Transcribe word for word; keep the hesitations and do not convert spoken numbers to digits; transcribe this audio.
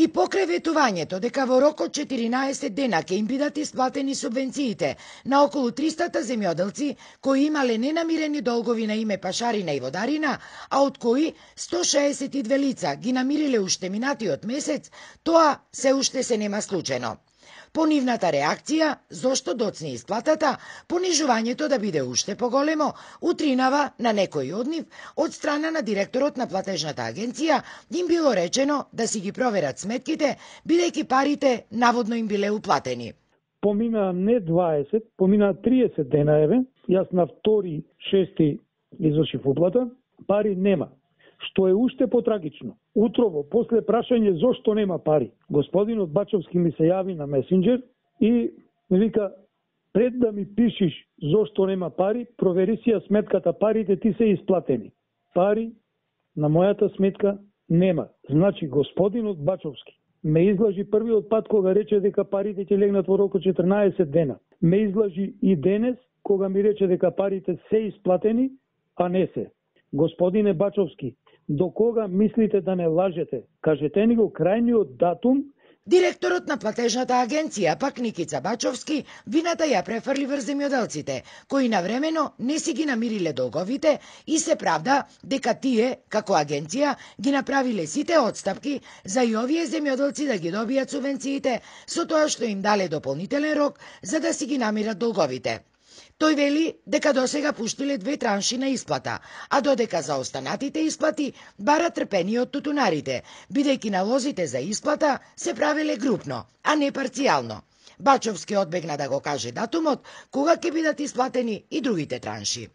И покрај ветувањето дека во рок од четиринаесет дена ќе им бидат исплатени субвенциите на околу триста земјоделци кои имале ненамирени долгови на име пашарина и водарина, а од кои сто шеесет и две лица ги намириле уште минатиот месец, тоа се уште се нема случено. По нивната реакција, зошто доцне исплатата, понижувањето да биде уште поголемо, утринава на некој од нив, од страна на директорот на платежната агенција, им било речено да си ги проверат сметките, бидејќи парите наводно им биле уплатени. Помина не дваесет, помина триесет дена, еве, јас на втори шести извршив уплата, пари нема. Што е уште потрагично. Утрово, после прашање зошто нема пари, господинот Бачовски ми се јави на месенџер и ми вика, пред да ми пишиш зошто нема пари, провери си ја сметката, парите ти се исплатени. Пари на мојата сметка нема. Значи, господинот Бачовски ме излажи првиот пат кога рече дека парите ќе легнат во рок од четирнаесет дена. Ме излажи и денес кога ми рече дека парите се исплатени, а не се. Господине Бачовски, до кога мислите да не лажете? Кажете ни го крајниот датум. Директорот на платежната агенција, пак Никица Бачовски, вината ја префрли врз земјоделците, кои навремено не си ги намириле долговите и се правда дека тие, како агенција, ги направиле сите отстапки за и овие земјоделци да ги добијат субвенциите, со тоа што им дале дополнителен рок за да си ги намират долговите. Тој вели дека досега пуштиле две транши на исплата, а додека за останатите исплати бара трпение од тутунарите, бидејќи налозите за исплата се правеле групно, а не парцијално. Бачовски одбегна да го каже датумот кога ќе бидат исплатени и другите транши.